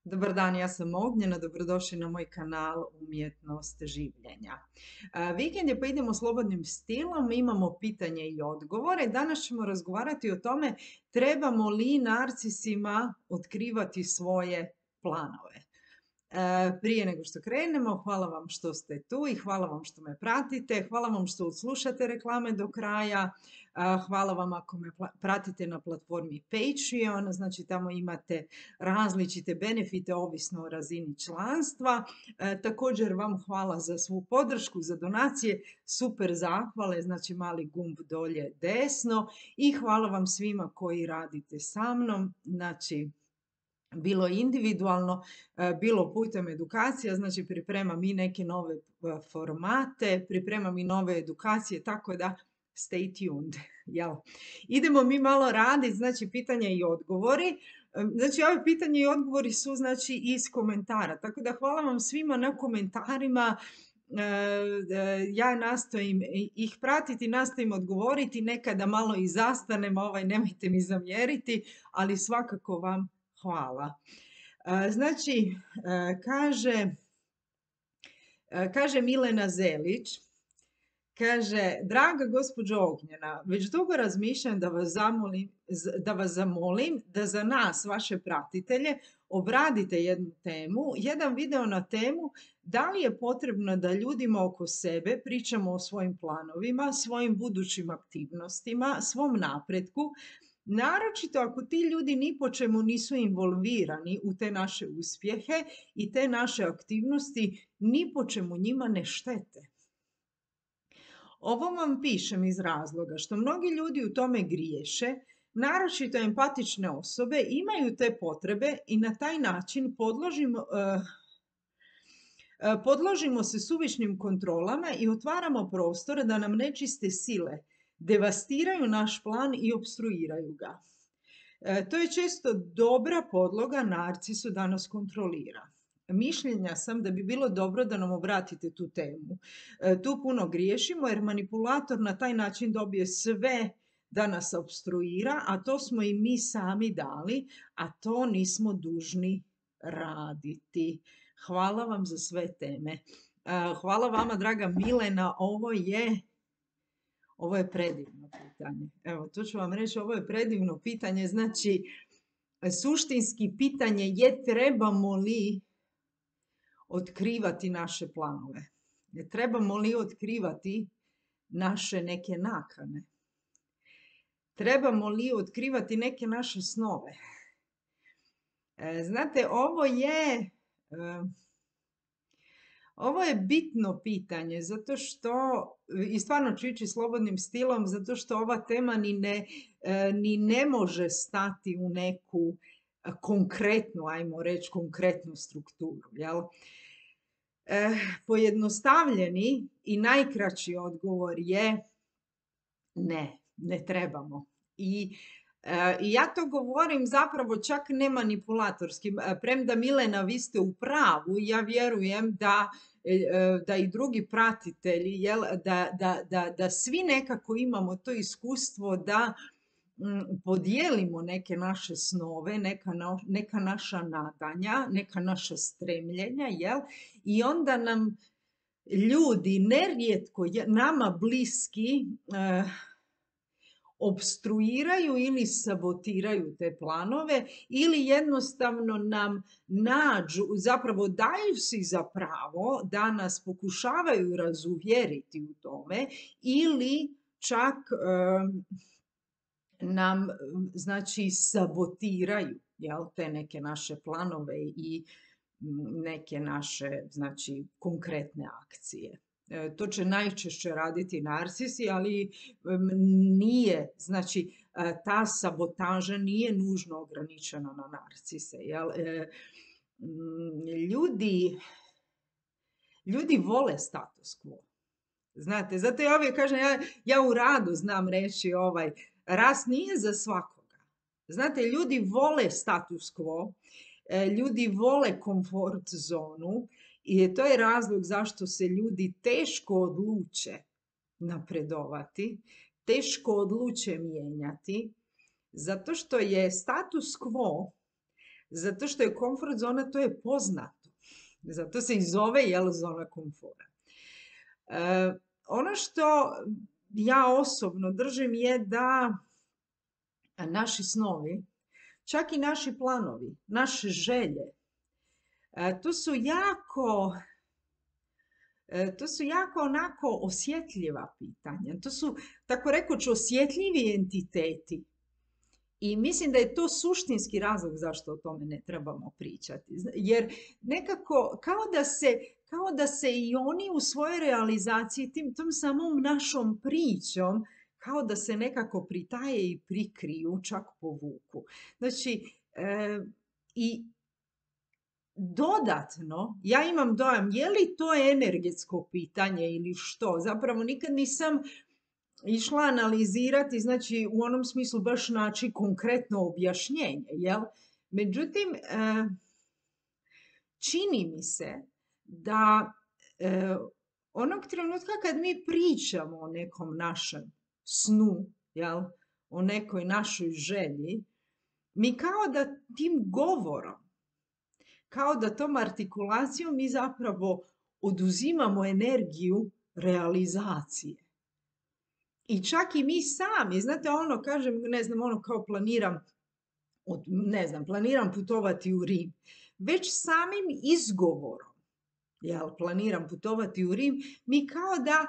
Dobar dan, ja sam Ognjena, dobrodošli na moj kanal Umjetnost življenja. Vikend je pa idemo slobodnim stilom, imamo pitanje i odgovore. Danas ćemo razgovarati o tome trebamo li narcisima otkrivati svoje planove. Prije nego što krenemo, hvala vam što ste tu i hvala vam što me pratite. Hvala vam što slušate reklame do kraja. Hvala vam ako me pratite na platformi Patreon, znači tamo imate različite benefite ovisno o razini članstva. Također vam hvala za svu podršku, za donacije, super zahvale, znači mali gumb dolje desno i hvala vam svima koji radite sa mnom, znači bilo individualno, bilo putem edukacija, znači pripremam i neke nove formate, pripremam i nove edukacije, tako da stay tuned. Jel? Idemo mi malo raditi, znači pitanja i odgovori. Znači ove pitanje i odgovori su znači iz komentara, tako da hvala vam svima na komentarima. Ja nastojim ih pratiti, nastojim odgovoriti, nekada malo i zastanem, nemojte mi zamjeriti, ali svakako vam hvala. Znači, kaže Milena Zelić, kaže, draga gospođo Ognjena, već dugo razmišljam da vas zamolim da za nas, vaše pratitelje, obradite jednu temu, jedan video na temu da li je potrebno da ljudima oko sebe pričamo o svojim planovima, svojim budućim aktivnostima, svom napretku, naročito ako ti ljudi ni po čemu nisu involvirani u te naše uspjehe i te naše aktivnosti ni po čemu njima ne štete. Ovo vam pišem iz razloga što mnogi ljudi u tome griješe, naročito empatične osobe imaju te potrebe i na taj način podložimo se suvišnim kontrolama i otvaramo prostor da nam nečiste sile devastiraju naš plan i opstruiraju ga. To je često dobra podloga narcisu da nas kontrolira. Mišljenja sam da bi bilo dobro da nam obratite tu temu. Tu puno griješimo jer manipulator na taj način dobije sve da nas opstruira, a to smo i mi sami dali, a to nismo dužni raditi. Hvala vam za sve teme. Hvala vama, draga Milena, ovo je predivno pitanje. Evo, to ću vam reći, ovo je predivno pitanje. Znači, suštinski pitanje je trebamo li otkrivati naše planove? Trebamo li otkrivati naše neke nakane? Trebamo li otkrivati neke naše snove? Znate, ovo je bitno pitanje, zato što, i stvarno ću ići slobodnim stilom, zato što ova tema ni ne može stati u neku konkretnu, ajmo reći, konkretnu strukturu. Jel? Pojednostavljeni i najkraći odgovor je ne trebamo. I ja to govorim zapravo čak ne manipulatorski. Premda Milena, vi ste u pravu, ja vjerujem da i drugi pratitelji, da svi nekako imamo to iskustvo da podijelimo neke naše snove, neka naša nadanja, neka naša stremljenja, jel? I onda nam ljudi nerijetko nama bliski opstruiraju ili sabotiraju te planove ili jednostavno nam zapravo daju si za pravo da nas pokušavaju razuvjeriti u tome ili čak nam znači sabotiraju, jel, te neke naše planove i neke naše znači konkretne akcije. To će najčešće raditi narcisi, ali nije, znači ta sabotaža nije nužno ograničena na narcise. Jel? Ljudi vole status quo. Znate, zato ja uvijek kažem, ja u radu znam reći rast nije za svakoga. Znate, ljudi vole status quo, ljudi vole komfort zonu i to je razlog zašto se ljudi teško odluče napredovati, teško odluče mijenjati, zato što je status quo Zato što je komfort zona, to je poznato. Zato se i zove zona komfora. Ono što ja osobno držim je da naši snovi, čak i naši planovi, naše želje, to su jako onako osjetljiva pitanja. To su, tako rekoć, osjetljivi entiteti. I mislim da je to suštinski razlog zašto o tome ne trebamo pričati. Jer nekako, kao da se i oni u svojoj realizaciji tom samom našom pričom, kao da se nekako pritaje i prikriju, čak povuku. Znači, i dodatno, ja imam dojam, je li to energetsko pitanje ili što? Zapravo nikad nisam išla analizirati, znači u onom smislu baš naći konkretno objašnjenje, jel? Međutim, čini mi se da onog trenutka kad mi pričamo o nekom našem snu, jel? O nekoj našoj želji, mi kao da tim govorom, kao da tom artikulacijom mi zapravo oduzimamo energiju realizacije. I čak i mi sami, znate ono, kažem, ne znam, ono kao planiram putovati u Rim. Već samim izgovorom, planiram putovati u Rim, mi kao da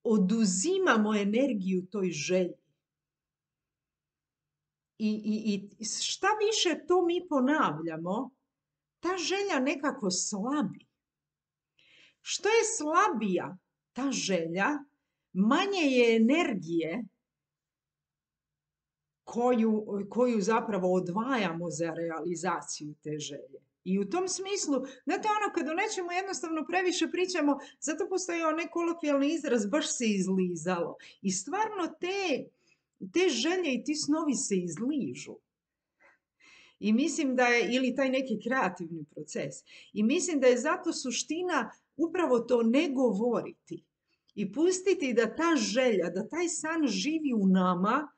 oduzimamo energiju toj želji. I šta više to mi ponavljamo, ta želja nekako slabi. Što je slabija ta želja, manje je energije koju zapravo odvajamo za realizaciju te želje. I u tom smislu, znate ono, kad o nečemu jednostavno previše pričamo, zato postoji onaj kolokvijalni izraz, baš se izlizalo. I stvarno te želje i ti snovi se izližu. I mislim da je, ili taj neki kreativni proces. I mislim da je zato suština upravo to ne govoriti. I pustiti da ta želja, da taj san živi u nama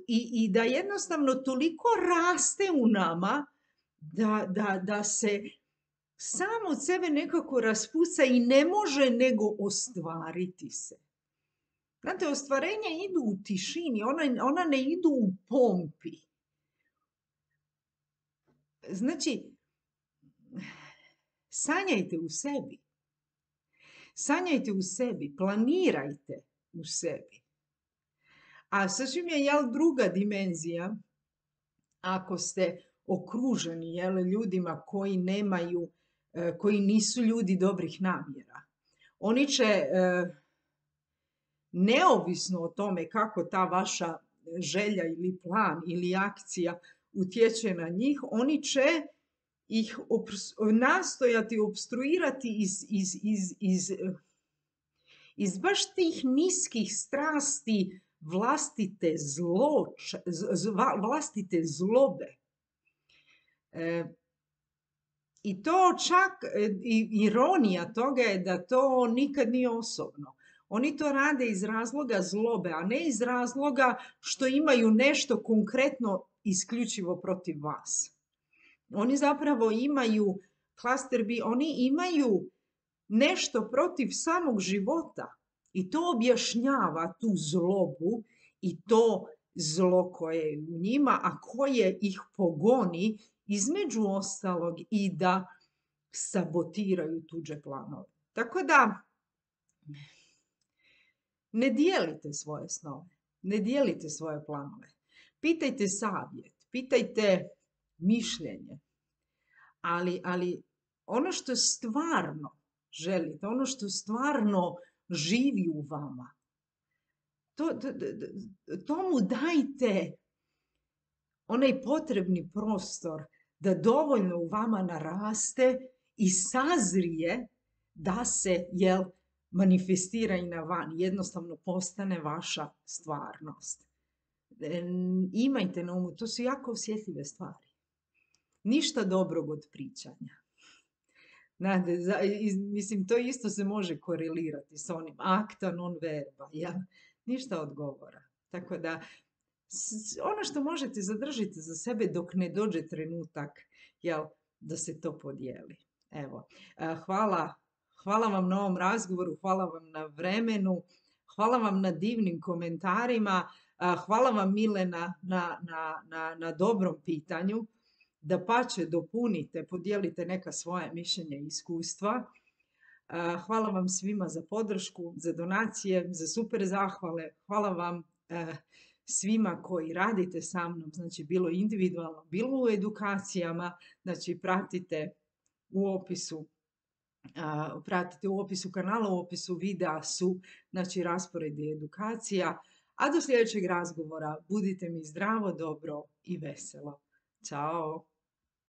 i da jednostavno toliko raste u nama da se sam od sebe nekako raspuca i ne može nego ostvariti se. Znate, ostvarenja idu u tišini, ona ne idu u pompi. Znači, sanjajte u sebi. Sanjajte u sebi, planirajte u sebi. A sasvim je druga dimenzija, ako ste okruženi ljudima koji nisu ljudi dobrih namjera. Oni će, neovisno o tome kako ta vaša želja ili plan ili akcija utječe na njih, oni će ih nastojati opstruirati iz baš tih niskih strasti vlastite zlobe. I to čak, ironija toga je da to nikad nije osobno. Oni to rade iz razloga zlobe, a ne iz razloga što imaju nešto konkretno isključivo protiv vas. Oni zapravo imaju, oni imaju nešto protiv samog života i to objašnjava tu zlobu i to zlo koje je u njima, a koje ih pogoni između ostalog i da sabotiraju tuđe planove. Tako da, ne dijelite svoje snove, ne dijelite svoje planove. Pitajte savjet, pitajte mišljenje, ali ono što stvarno želite, ono što stvarno živi u vama, tomu dajte onaj potrebni prostor da dovoljno u vama naraste i sazrije da se, manifestira i na van, jednostavno postane vaša stvarnost. Imajte na umu, to su jako osjetljive stvari. Ništa dobrog od pričanja. Mislim, to isto se može korelirati s onim acta non verba, ništa od govora. Tako da, Ono što možete zadržite za sebe dok ne dođe trenutak, jel, da se to podijeli. Evo, hvala, hvala vam na ovom razgovoru, hvala vam na vremenu, hvala vam na divnim komentarima, hvala vam Milena na dobrom pitanju. Dapače, dopunite, podijelite neka svoja mišljenja i iskustva. Hvala vam svima za podršku, za donacije, za super zahvale. Hvala vam svima koji radite sa mnom, znači bilo individualno, bilo u edukacijama, znači pratite u opisu kanala, u opisu videa su znači rasporedi edukacija. A do sljedećeg razgovora budite mi zdravo, dobro i veselo. Ćao!